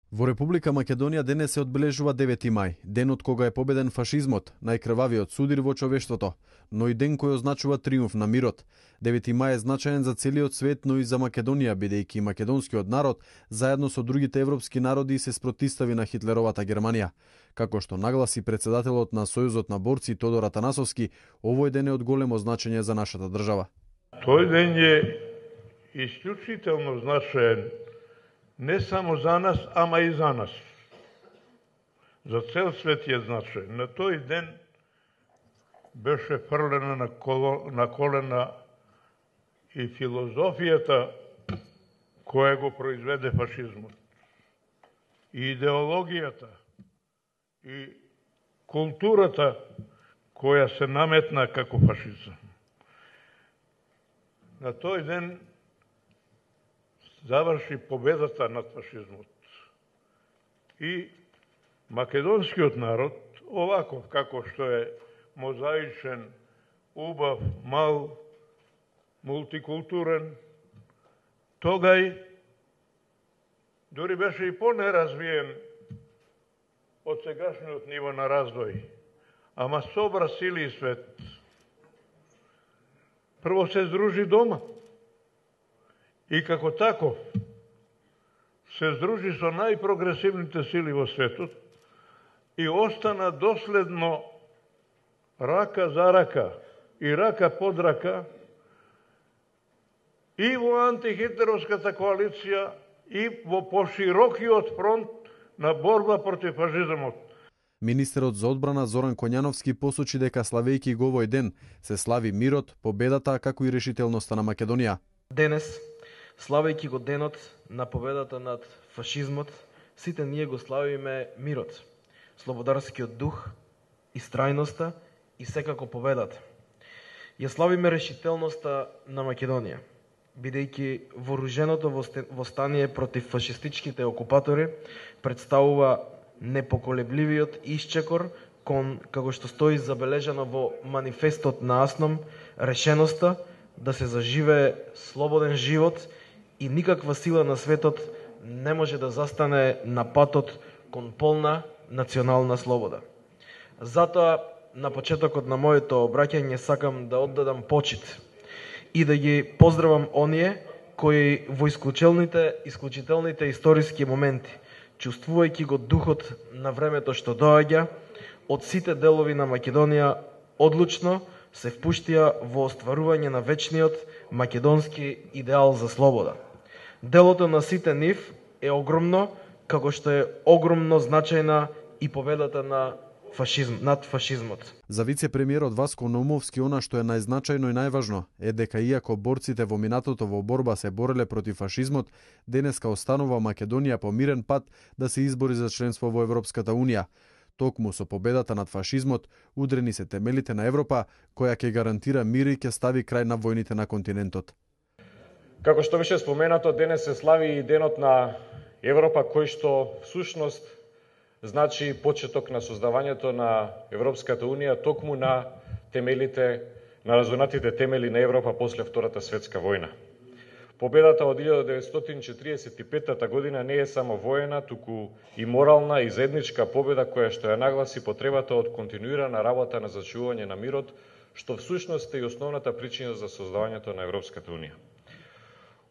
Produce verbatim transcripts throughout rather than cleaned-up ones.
Во Република Македонија денес се одбележува девети мај, денот кога е победен фашизмот, најкрвавиот судир во човештвото, но и ден кој означува триумф на мирот. девети мај е значаен за целиот свет, но и за Македонија, бидејќи македонскиот народ, заедно со другите европски народи, се спротистави на Хитлеровата Германија. Како што нагласи председателот на Сојузот на борци Тодор Атанасовски, овој ден е од големо значење за нашата држава. Тој ден е исклучително значаен не само за нас, ама и за нас. За цел свет е значаен. На тој ден беше фрлена на, коло, на колена и филозофијата која го произведе фашизмот. И идеологијата, и културата која се наметна како фашизам. На тој ден заврши победата над фашизмот. И македонскиот народ, оваков како што е мозаичен, убав, мал, мултикултурен, тогај дури беше и понеразвиен од сегашниот ниво на развој, ама собра сили и свет. Прво се здружи дома и како таков се здружи со најпрогресивните сили во светот и остана доследно рака за рака и рака под рака и во антихитлеровската коалиција и во поширокиот фронт на борба против фашизмот. Министерот за одбрана Зоран Коњановски посочи дека славејќи го овој ден се слави мирот, победата, како и решителноста на Македонија. Денес, славејќи го денот на победата над фашизмот, сите ние го славиме мирот, слободарскиот дух, истрајноста и секако победата. Ја славиме решителноста на Македонија, бидејќи вооруженото востание против фашистичките окупатори представува непоколебливиот исчекор кон, како што стои забележано во манифестот на АСНОМ, решеноста да се заживее слободен живот и никаква сила на светот не може да застане на патот кон полна национална слобода. Затоа, на почетокот на моето обраќање сакам да оддадам почит и да ги поздравам оние кои во исклучителните, исклучителните историски моменти, чувствувајќи го духот на времето што доаѓа, од сите делови на Македонија одлучно се впуштија во остварување на вечниот македонски идеал за слобода. Делото на сите нив е огромно, како што е огромно значајна и победата на фашизм, над фашизмот. За вице-премиерот Васко Наумовски, она што е најзначајно и најважно е дека иако борците во минатото во борба се бореле против фашизмот, денеска останува Македонија по мирен пат да се избори за членство во Европската унија. Токму со победата над фашизмот удрени се темелите на Европа, која ќе гарантира мир и ќе стави крај на војните на континентот. Како што беше споменато, денес се слави и денот на Европа, кој што всушност значи почеток на создавањето на Европската унија, токму на темелите, на разонатите темели на Европа после Втората светска војна. Победата од илјада деветстотини четиридесет и петта година не е само воена, туку и морална и заедничка победа која што ја нагласи потребата од континуирана работа на зачувување на мирот, што всушност е и основната причина за создавањето на Европската унија.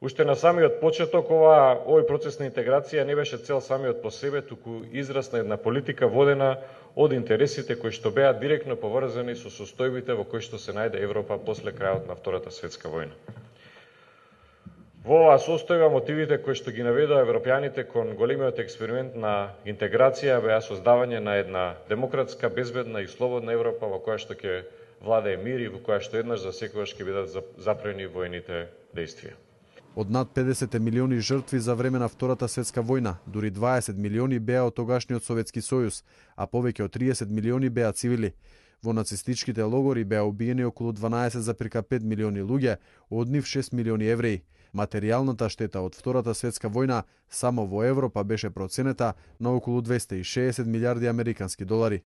Уште на самиот почеток ова овој процес на интеграција не беше цел самиот по себе, туку израз на една политика водена од интересите кои што беа директно поврзани со состојбите во кои што се најде Европа после крајот на Втората светска војна. Во оваа состојба мотивите кои што ги наведоа европјаните кон големиот експеримент на интеграција беа создавање на една демократска, безбедна и слободна Европа во која што ќе владее мир и во која што еднаш за секогаш ќе бидат запрени војните дејствија. Од над педесет милиони жртви за време на Втората светска војна, дури дваесет милиони беа од тогашниот Советски сојуз, а повеќе од триесет милиони беа цивили. Во нацистичките логори беа убиени околу дванаесет зарез пет милиони луѓе, од нив шест милиони евреи. Материјалната штета од Втората светска војна само во Европа беше проценета на околу двесте и шеесет милијарди американски долари.